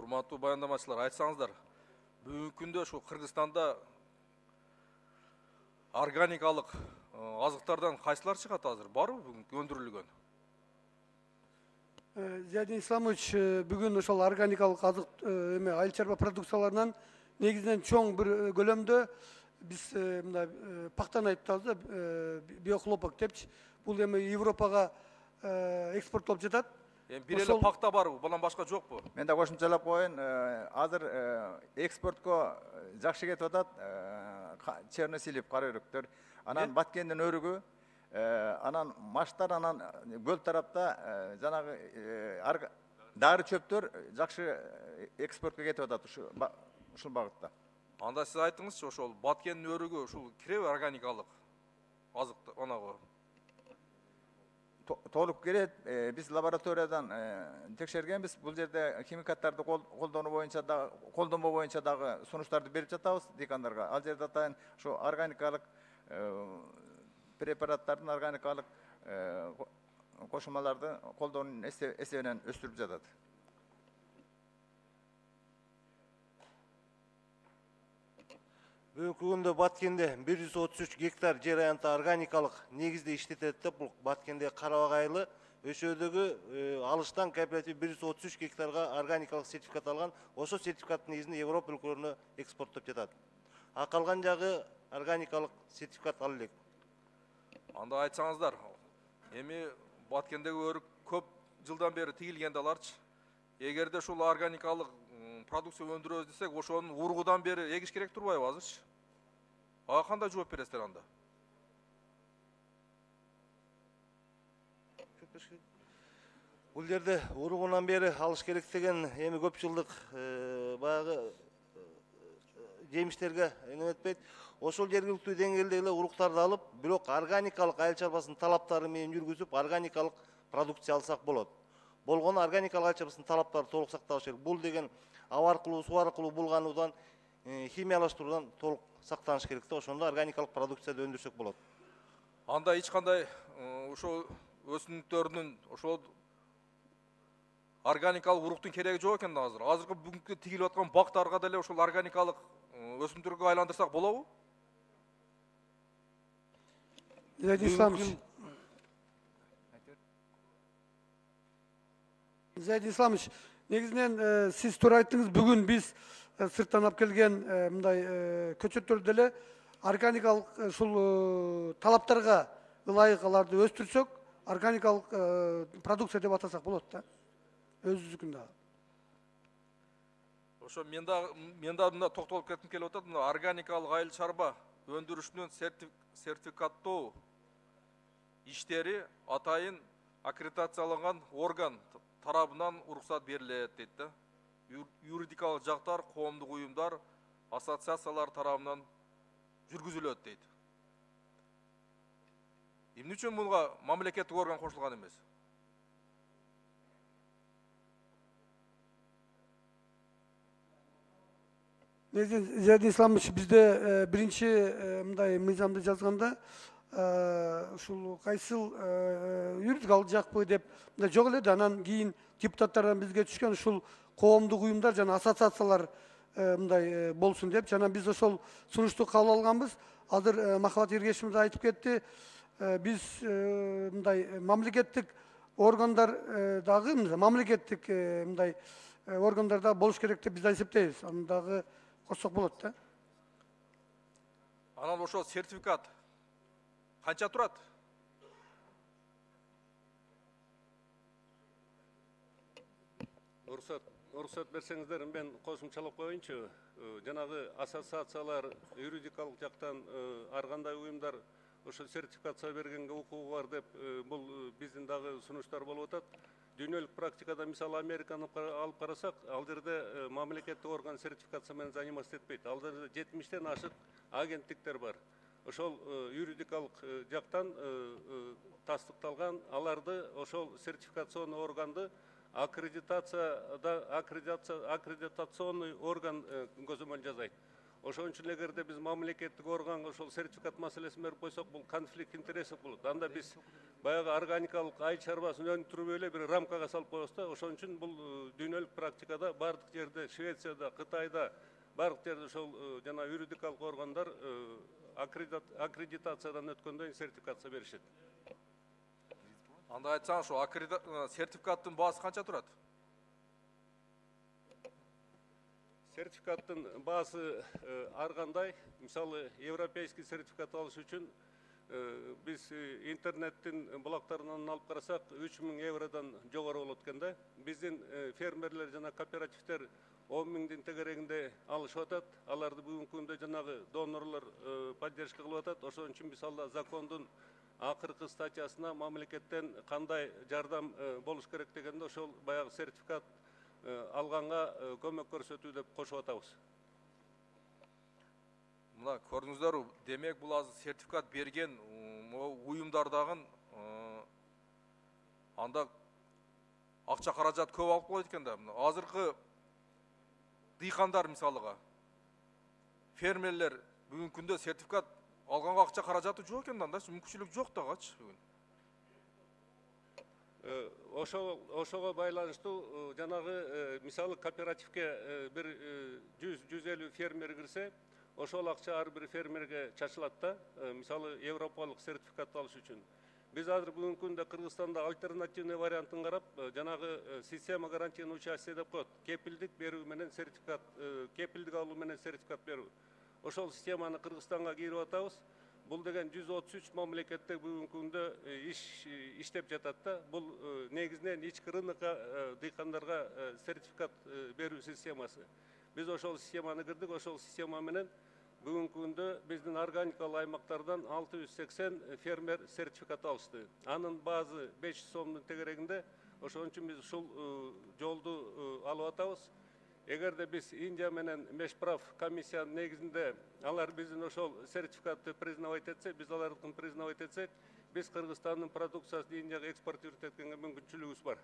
Урматтуу баяндамачылар, айтсаңыздар, бүгүнкү күндө ушу Кыргызстанда органикалык азыктардан кайсылар чыгат азыр? Барбы бүгүнкү өндүрүлгөн? Зиядин Исламович, бүгүн ошол органикалык азык айыл чарба продукцияларынан негизинен чоң бир көлөмдө биз мындай пактаны айтып атабыз да, биохлопок депчи. Бул эми Европага экспорттолуп жатат. Бир эле пакта барбы, bundan башка жокпу? Мен да кошумчалап коеюн, азыр экспортко жакшы кетип атат. Черносилип кара өрүктөр, анан Баткендин өрүгү, анан маштар, анан көл тарапта жанагы дары чөптөр жакшы экспортко кетип атат ушул багытта. Анда сиз айтыңызчы, ошол Баткендин өрүгү ушул киреби органикалык азык анагы? Толук кирет. Биз лабораториядан текшергенбиз. Бул жерде химикаттарды колдонуу боюнча да, колдонбоо боюнча дагы сунуштарды берип жатабыз дыйкандарга. Ал жерде атайын ушу органикалык препараттардын, органикалык кошулмаларды колдоонун эсебинен өстүрүп жатат. Бүгүнкү күндө Баткенде 133 гектар жер аянты органикалык негизде иштетет деп, бул Баткенде Карабак айылы Өшөөдөгү алыштан кооператив 133 гектарга органикалык сертификат алган. Ошол сертификаттын негизинде Европа өлкөлөрүнө экспорттоп жатат. А калган жагы органикалык сертификат ала элек. Анда айтсаңыздар, эми Баткендеги өрүк көп жылдан бери тигилген аларчы. Эгерде ушул органикалык продукция өндүрөбүз десек, ошонун ургудан бери эгиш керек турбайбы азырчы? Ага кандай жооп бересиздер анда? Бул жерде уругунан бери алыш керек деген эми көп жылдык баягы жемиштерге эметпейт. Ошол жергиликтүү деңгээлде эле уруктарды алып, бирок органикалык айыл чарбасынын талаптары менен жүргүзүп, органикалык продукция алсак болот. Болгону органикалык айыл чарбасынын талаптары толук сакталыш керек. Бул деген аба аркылуу, суу аркылуу булгануудан, химиялаштыруудан толук сактаныш керек да, ошондо органикалык продукцияды өндүрсөк болот. Анда эч кандай ошол өсүмдүктөрдүн ошол органикалык уруктун кереги жок экен да азыр. Азыркы бүгүнкү тигилип аткан бактарга деле ошол органикалык өсүмдүктөргө айландырсак болобу? Зиядин Исламович, негизинен сиз туура айттыңыз, бүгүн биз сырттан алып келген мындай көчөттөрдү деле органикалык ушул талаптарга ылайык аларды өстүрсөк, органикалык продукция деп атасак болот да. Өзүбүздүкүн дагы. Ошо мен да мында токтолуп кетким келип атат. Мына органикалык айыл чарба өндүрүшүнүн сертификаттоо иштери атайын аккредитацияланган орган тарабынан уруксат берилет дейт да. Юридикалык жактар, коомдук уюмдар, ассоциациялар тарабынан жүргүзүлөт дейт. Эмне үчүн буга мамлекеттик орган кошулган эмес? Зиядин Исламович, бизде биринчи мындай мыйзамды жазганда ушул кайсыл юридикалык жакпы деп мындай жок эле да, анан кийин депутаттардан бизге түшкөн ушул коомдук уюмдар жана ассоциациялар мындай болсун деп, жана биз ошол сунушту кабыл алганбыз. Азыр Махабат Эргешимов айтып кетти. Биз мындай мамлекеттик органдар дагы, мамлекеттик мындай органдар дагы болуш керек деп биз эсептейбиз. Аны дагы кошсок болот да. Анан ошол сертификат канча турат? Уруксат берсеңиздер, мен кошумчалап коеюнчу. Жанагы ассоциациялар, юридикалык жактан ар кандай уюмдар ошо сертификация бергенге укугу бар деп, бул биздин дагы сунуштар болуп атат. Дүйнөлүк практикада мисалы Американы алып карасак, ал жерде мамлекеттик орган сертификация менен заниматься этпейт. Ал жерде 70тен ашык агенттиктер бар. Ошол юридикалык жактан тастыкталган, аларды ошол сертификационный органды аккредитационный орган көзөмөл жасайт. Ошон үчүн эгерде биз мамлекеттик органга ошол сертификат маселесин берип койсок, бул конфликт интересов болот. Анда биз баягы органикалык айыл чарбасын өндүрүп эле бир рамкага салып коебуз да. Ошон үчүн бул дүйнөлүк практикада бардык жерде, Швецияда, Кытайда, бардык жерде ошол жана юридикалык органдар аккредитациядан өткөндөн кийин сертификация беришет. Анда айтсаң, ошо сертификаттын баасы канча турат? Сертификаттын баасы ар кандай. Мисалы, европейский сертификат алыш үчүн биз интернеттин булактарынан алып карасак 3000 евродон жогору болот экен да. Биздин фермерлер жана кооперативдер 10 миңдин тегерегинде алышып атат. Аларды бүгүнкү күндө жанагы донорлор поддержка кылып атат. Ошон үчүн биз алда закондун акыркы статьясына мамлекеттен кандай жардам болуш керек дегенде ошол баягы сертификат алганга көмөк көрсөтүү деп кошуп атабыз. Мына көрдүңүздөр, демек бул азыр сертификат берген уюмдардагы анда акча каражат көп алып коет экен да. Азыркы дыйкандар мисалыга фермерлер бүгүнкү күндө сертификат алганга акча каражаты жок экен да, мүмкүнчүлүк жок дагычы бүгүн. Ошого байланыштуу жанагы мисалы кооперативке бир 100-150 фермер кирсе, ошол акча ар бир фермерге чачылат да. Мисалы европалык сертификат алыш үчүн. Биз азыр бүгүнкү күндө Кыргызстанда альтернативный вариантын карап, жанагы система гарантийного участия деп коет. Кепилдик берүү менен сертификат, кепилдик алуу менен сертификат берүү. Ошол системаны Кыргызстанга кирип атабыз. Бул деген 133 мамлекетте бүгүнкү күндө иштеп жатат да. Бул негизинен ички рынокко дыйкандарга сертификат берүү системасы. Биз ошол системаны кирдик, ошол система менен бүгүнкү күндө биздин органикалык аймактардан 680 фермер сертификат алышты. Анын баазы 500 сомдун тегерегинде. Ошон үчүн биз ушул жолду алып атабыз. Эгерде биз Индия менен Мешправ комиссиянын негизинде алар биздин ошол сертификатты признавать этсе, биз алардыкын признавать этсек, биз Кыргызстандын продукциясын Индияга экспортировать эткенге мүмкүнчүлүгүбүз бар.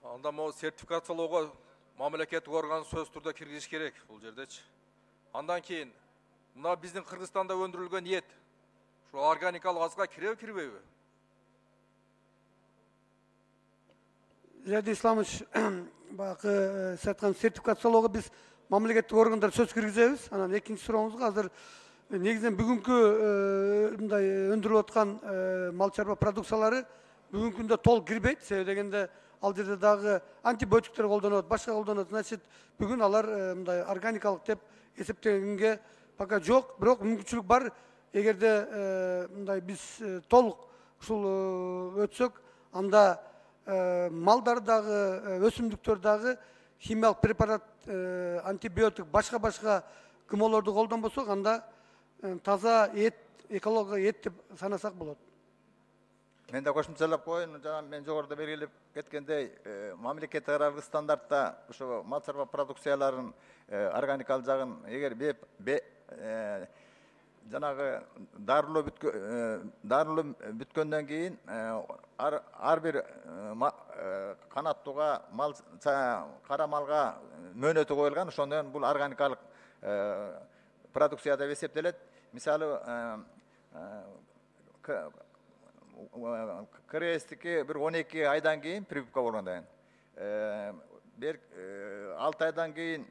Анда могу сертификациялоого мамлекеттик орган сөз түрдө киргизиш керек бул жердечи. Андан кийин мына биздин Кыргызстанда өндүрүлгөн эт ушул органикалык азга киреби, кирбейби? Зияди Исламович, баягы сиз айткан сертификациялоого биз мамлекеттик органдар сөз киргизебиз. Анан экинчи сурооңузга азыр негизинен бүгүнкү мындай өндүрүлүп аткан мал чарба продукциялары бүгүнкү күндө толук кирбейт. Себеби дегенде ал жерде дагы антибиотиктер колдонот, башка колдонот. Значит, бүгүн алар мындай органикалык деп эсептегенге пока жок, бирок мүмкүнчүлүк бар. Эгерде мындай биз толук ушул өтсөк, анда малдар дагы, өсүмдүктөр дагы химиялык препарат, антибиотик, башка кымолорду колдонбосок, анда таза эт, экология эт деп санасак болот. Мен да кошумчалап коеюн, жана мен жогоруда белгилеп кеткендей, мамлекеттик аралык стандартта ошо мал чарба продукцияларын органикалык жагын эгер жанагы дарылоо бүткөндөн кийин ар бир канаттууга кара малга мөөнөтү коюлган, ошондон бул органикалык продукция деп эсептелет. Мисалы КРСтики бир 12 айдан кийин прививка болгондон кийин, 6 айдан кийин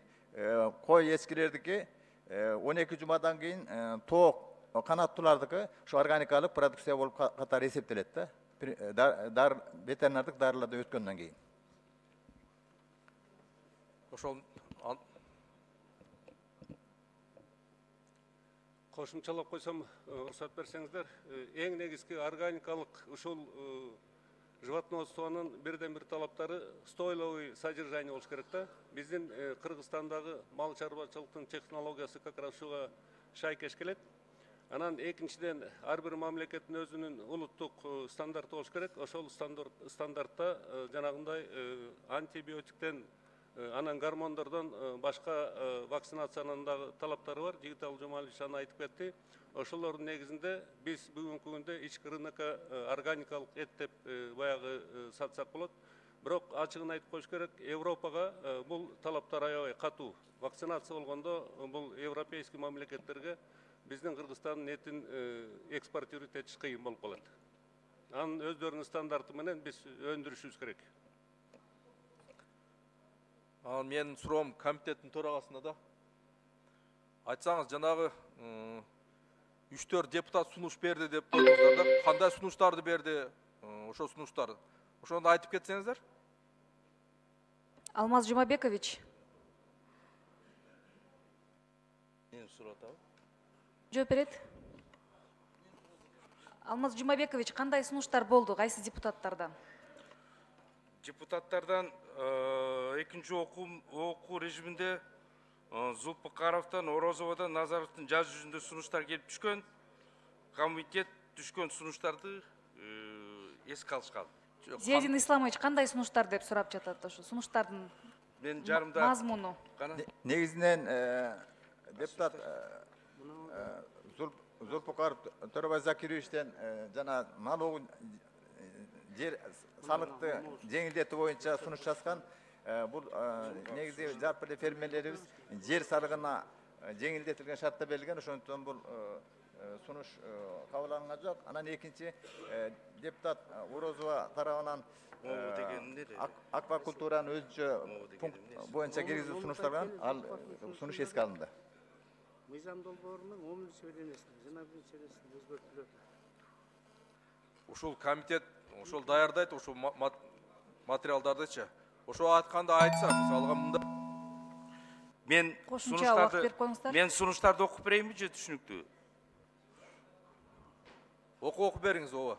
кой эскилердики, 12 жумадан кийин тоок канаттуулардыкы ушу органикалык продукция болуп катары эсептелет да. Ветеринардык дарылардан өткөндөн кийин. Ошол Кошумчалап койсом, уруксат берсеңиздер, эң негизги органикалык ушул животноводствонун бирден бир талаптары стойловый содержание болуш керек да. Биздин Кыргызстандагы мал чарбачылыктын технологиясы как раз ушуга шайкеш келет. Анан экинчиден ар бир мамлекеттин өзүнүн улуттук стандарты болуш керек. Ошол стандартта жанагындай антибиотиктен, анан гормондордон башка вакцинациянын дагы талаптары бар. Жигитал Жумалович аны айтып кетти. Ошолордун негизинде биз бүгүнкү күндө ички рынокко органикалык эт деп баягы сатсак болот. Бирок ачыгын айтып коюш керек, Европага бул талаптар аябай катуу. Вакцинация болгондо бул европейский мамлекеттерге биздин Кыргызстандын этин экспортировать этиш кыйын болуп калат. Анын өздөрүнүн стандарты менен биз өндүрүшүбүз керек. Ал менин суроом комитеттин төрагасына да. Айтсаңыз, жанагы 3-4 депутат сунуш берди деп койдуңуздар да. Кандай сунуштарды берди? Ошо сунуштар. Ошону айтып кетсеңиздер. Алмаз Жумабекович. Мен сурап атабы. Жооп берет. Алмаз Жумабекович, кандай сунуштар болду кайсы депутаттардан? Депутаттардан экинчи окуу режиминде Зулпукаровдон, Орозоводон, Назаровдун жаз жүзүндө сунуштар келип түшкөн. Комитет түшкөн сунуштарды эске алышкан. Зиядин Исламович, кандай сунуштар деп сурап жатат ошо сунуштардын Мен жарымда мазмуну? Негизинен депутат Зулпукаров Төрөбай Закировичтен жана налогун жер салыкты жеңилдетүү боюнча сунуш жазган. Бул негизи жалпы эле фермерлерибиз жер салыгына жеңилдетилген шартта берилген, ошондуктан бул сунуш кабыл алынган жок. Анан экинчи депутат Орозова тарабынан аквакультуранын өзүнчө пункт боюнча киргизүү сунуштардан ал сунуш эске алынды. Мыйзам долбоорунун 10-беренесинде жана 1-беренесинде өзгөртүлөт. Ушул комитет ошол даярдайт, ошол материалдардычы. Ошо айтканда айтса, мисалга мында мен Кошумча убакыт берип коюңуздар. сунуштарды окуп берейинби же түшүнүктүү? окуп бериңиз ооба.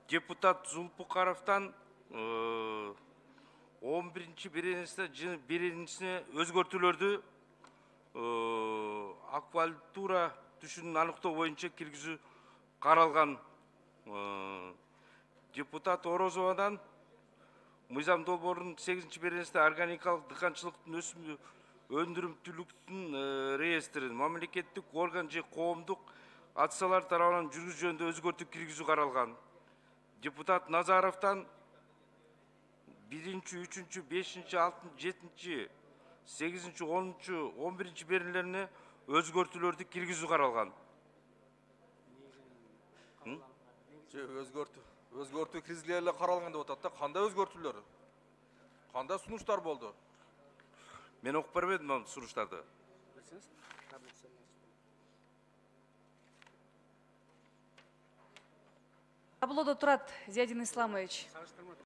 Депутат Зулпукаровдон 11-беренесине өзгөртүүлөрдү аквакультура түшүнүн аныктоо боюнча киргизүү каралган. Депутат Орозовадан мыйзам долбоорунун 8-беренесинде органикалык дыйканчылыктын өсүм өндүрүмдүүлүктүн реестрин мамлекеттик орган же коомдук акциялар тарабынан жүргүзүү жөнүндө өзгөртүү киргизүү каралган. Депутат Назаровдон 1-3, 5, 6, 7, 8, 10, 11 беренелерине өзгөртүүлөрдү киргизүү каралган. Өзгөртүү киргизиле эле каралган деп атат да. Кандай өзгөртүүлөр? Кандай сунуштар болду? Мен окуп бербедим ал сунуштарды. Таблодо турат Зиядин Исламович.